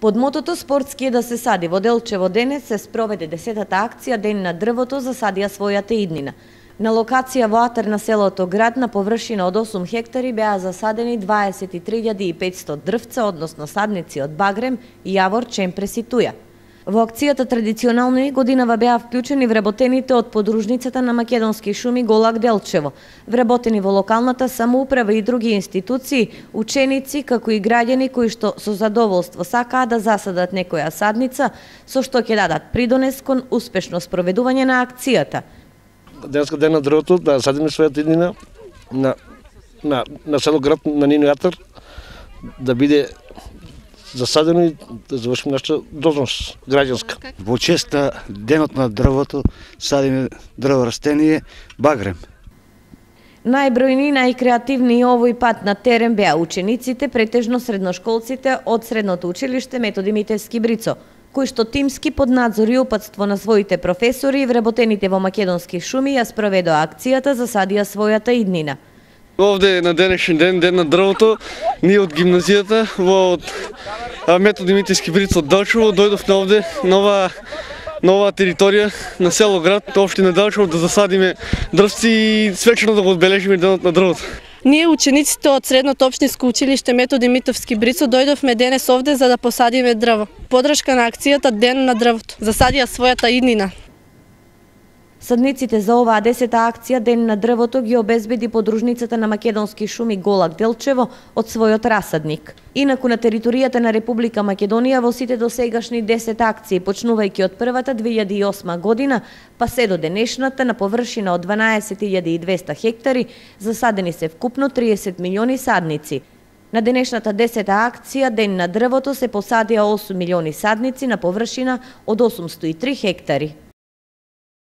Под мотото "Спортски е да се сади" во Делчево денес се спроведе 10-та акција Ден на дрвото засадија својата иднина. На локација во атар на селото Град на површина од 8 хектари беа засадени 23.500 дрвца, односно садници од багрем, јавор, чемпрес и туја. Во акцијата традиционално и годинава беа вклучени вработените од подружницата на македонски шуми Голак Делчево, вработени во локалната самоуправа и други институции, ученици, како и граѓани кои што со задоволство сакаа да засадат некоја садница, со што ќе дадат придонес кон успешно спроведување на акцијата. Денеска Ден на дрвото, да садиме својата иднина на село Град, на нивниот атар, да биде засадено и да завршиме нашата должност граѓанска. Во чест на Денот на дрвото садиме дрво растение багрем. Најбројни, најкреативни и овој пат на терен беа учениците, претежно средношколците од средното училиште Методи Митевски Брицо, кои што тимски под надзор и упатство на своите професори и вработените во македонски шуми ја спроведоа акцијата засадија својата иднина. Овде на денешен ден, Ден на дрвото, ние од гимназијата во Методи Митевски Брицо од Делчево дојдовме овде нова територија на село Град, општина Делчево, да засадиме дрвци и свечено да го одбележиме Денот на дрвото. Ние, учениците од Средното општинско училиште Методи Митевски Брицо, дојдовме денес овде за да посадиме дрво. Подршка на акцијата Ден на дрвото. Засадија својата иднина. Садниците за оваа 10-та акција Ден на дрвото ги обезбеди подружницата на македонски шуми Голак Делчево од својот расадник. Инаку на територијата на Република Македонија во сите досегашни 10 акции, почнувајќи од првата 2008 година, па се до денешната на површина од 12.200 хектари, засадени се вкупно 30 милиони садници. На денешната 10-та акција Ден на дрвото се посадија 8 милиони садници на површина од 803 хектари.